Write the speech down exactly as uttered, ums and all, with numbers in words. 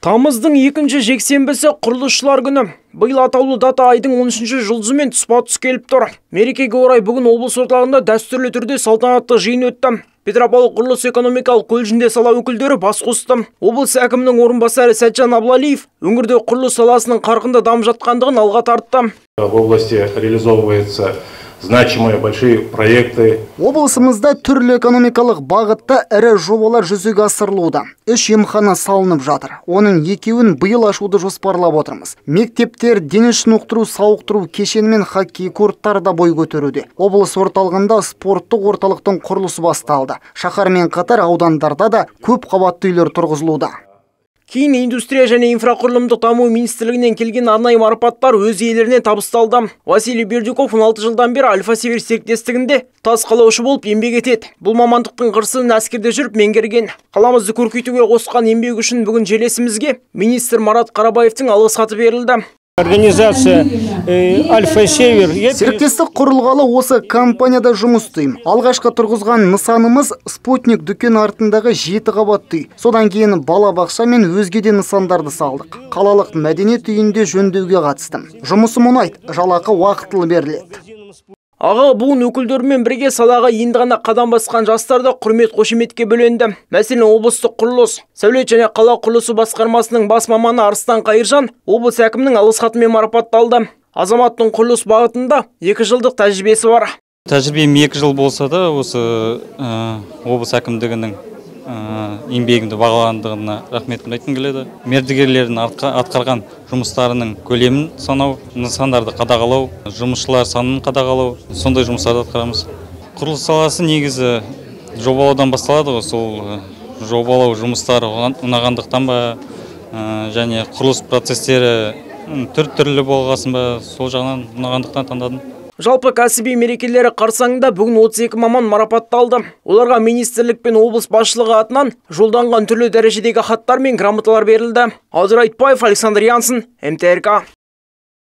Тамыздың екінші жексенбісі құрылысшылар күні. Биыл атаулы дата айдың он үшінші жұлдызымен тұспа-тұс келіп тұр. Мерекеге орай бүгін облыс орталығында дәстүрлі түрде салтанатты жиын өтті. Петропавл құрылыс экономикалық колледжінде сала өкілдері бас қосты. Облыс әкімінің орынбасары Сәтжан Аблалиев өңірде құрылыс саласының қарқынды дамып жатқандығын алға тартты. В области реализовываются значимые большие проекты. Облысымызда түрлі экономикалық бағытта ірі жобалар жүзеге асырылуда. Үш емхана салынып жатыр. Оның екеуін биыл ашуды жоспарлап отырмыз. Мектептер, дене шынықтыру, сауықтыру кешені мен хоккей корттары да бой көтеруде. Облыс орталығында спорттық орталықтың құрылысы басталды. Шаһармен қатар аудандарда да көп қабатты үйлер тұрғызылуда. Кейін индустрия және инфрақұрылымдық даму министрлігінен келген арнайы марапаттар өз иелеріне табысталды. Василий Бердюков он алты жылдан бері Альфа-Север серіктестігінде тас қалаушы болып еңбек етеді. Бұл мамандықтың қыр-сырын әскерде жүріп меңгерген. Қаламызды көркейтуге қосқан еңбегі үшін бүгін желесімізге министр Марат Қарабаевтың алғыс хаты берілді. Организация Альфа-Север. Серіктестік құрылғалы осы компанияда жұмыс істеймін. Алғашқы тұрғызған нысанымыз Спутник дүкен артындағы жеті қабатты үй. Содан кейін балабақша мен өзге де нысандарды салдық. Қалалық мәдениет үйінде жөндеуге қатыстым. Жұмысым ұнайды, жалақы уақытылы беріледі. Аға буын өкілдерімен бірге салаға енді ғана қадам басқан жастар да құрмет қошеметке бөленді. Мәселен, облыстық құрылыс, сәулет және қала құрылысы басқармасының бас маманы Арыстан Қайыржан облыс әкімінің алғыс хатымен марапатталды. Азаматтың құрылыс бағытында екі жылдық тәжірибесі бар. Тәжірибем екі жыл болса да, осы облыс әкімдігінің еңбегімді бағаландығына рахметімді айтқым келеді. Мердігерлердің атқарған жұмыстарының көлемін санау, нысандарды қадағалау, жұмысшылар санын қадағалау, сондай жұмыстарды атқарамыз. Құрылыс саласы негізі жобалаудан басталады ғой, сол жобалау жұмыстары ұнағандықтан ба, және құрылыс процестері түр-түрлі болғасын ба, сол жағынан ұнағандықтан таңдадым. Жалпы кәсіби мерекелері қарсаңында бүгін отыз екі маман марапатталды. Оларға министрлік пен облыс басшылығы атынан жолданған түрлі дәрежедегі хаттар мен грамоталар берілді. Алдыр Айтбаев, Александр Янсын, эм тэ эр ка.